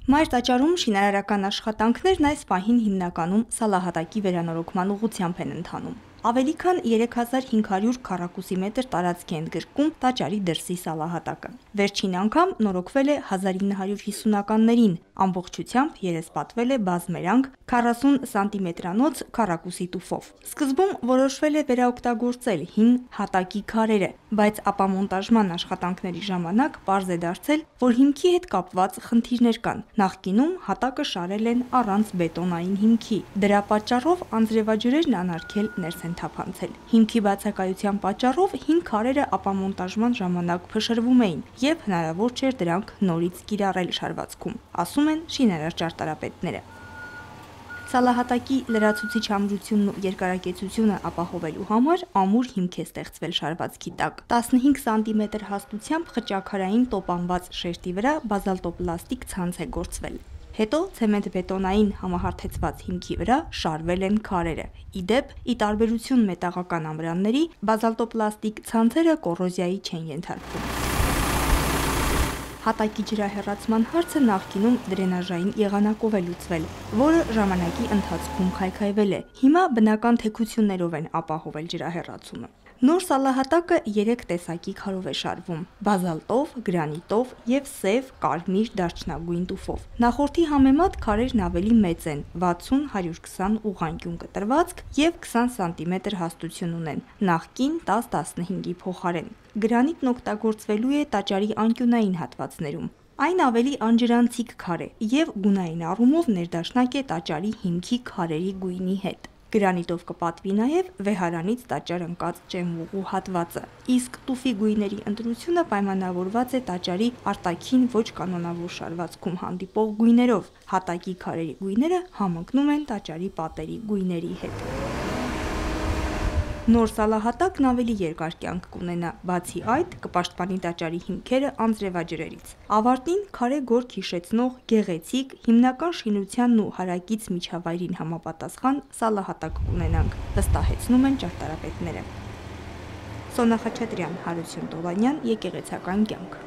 Մայր տաճարում շինարարական աշխատանքներն այս պահին հիմնականում սալահատակի վերանորոգման ուղղությամբ են ընթանում։ Ավելի քան 3500 քառակուսի մետր տարածք է ընդգրկում տաճարի դրսի սալահատակը։ Վերջին անգամ նորոգվել է 1950-ականներին, ամբողջությամբ երեսպատվել է բազմերանգ 40 սանտիմետրանոց քառակուսի տուֆով։ Սկզբում որոշվել է վերաօգտագործել հին հատակի քարերը, բայց ապամոնտաժման աշխատանքների ժամանակ պարզ է դարձել, որ հիմքի հետ կապված խնդիրներ կան։ Նախկինում հատակը շարել են առանց բետոնային հիմքի։ Դրա պատճառով անձրևաջրերն անարգել ներս են թափանցել։ Հիմքի բացակայության պատճառով հին քարերը ապամոնտաժման ժամանակ փշրվում էին և հնարավոր չէր դրանք նորից կիրառել շարվածքում, ասում են շինարար ճարտարապետները։ Սալահատակի լրացուցիչ ամրությունն ու երկարակեցությունը ապահովելու համար ամուր հիմք է ստեղծվել շարվածքի տակ։ 15 սանտիմետր հաստությամբ խճաքարային տոպանված շերտի վրա բազալտոպլաստիկ ցանց է գործվել։ Հետո ցեմենտբետոնային համահարթեցված հիմքի վրա շարվել են քարերը։ Ի դեպ, ի տարբերություն մետաղական ամրանների, բազալտոպլաստիկ ցանցերը կոռոզիայի չեն ենթարկվում։ Հատակի ջրահեռացման հարցը նախկինում դրենաժային եղանակով է լուծվել, որը ժամանակի ընթացքում քայքայվել է։ Հիմա բնական թեքություններով են ապահովել ջրահեռացումը։ Նոր սալահատակը 3 տեսակի քարով է շարվում՝ բազալտով, գրանիտով և սև, կարմիր, դարչնագույն տուֆով։ Նախորդի համեմատ քարերն ավելի մեծ են՝ 60-120 ուղղանկյուն կտրվածք և 20 սանտիմետր հաստություն ունեն, նախկին 10-15-ի փոխարեն։ Գրանիտն օգտագործվելու է տաճարի անկյունային հատվածներում։ Այն ավելի անջրանցիկ քար է և գունային առումով ներդաշնակ է տաճարի հիմքի քարերի գույնի հետ։ Գրանիտով կպատվի նաև վեհարանից տաճար ընկած ճեմուղու հատվածը, իսկ տուֆի գույների ընտրությունը պայմանավորված է տաճարի արտաքին ոչ կանոնավոր շարվածքում հանդիպող գույներով։ Հատակի քարերի գույները համընկնում են տաճարի պատերի գույների հետ։ Նոր սալահատակն ավելի երկար կյանք կունենա, բացի այդ կպաշտպանի տաճարի հիմքերը անձրևաջրերից։ Ավարտին քարե գորգ հիշեցնող գեղեցիկ, հիմնական շինությանն ու հարակից միջավայրին համապատասխան սալահատակ կունենանք, վստահեցնում են ճարտարապետները։ Սոնա Խաչատրյան, Հարություն Տոլանյան, Եկեղեցական կյանք։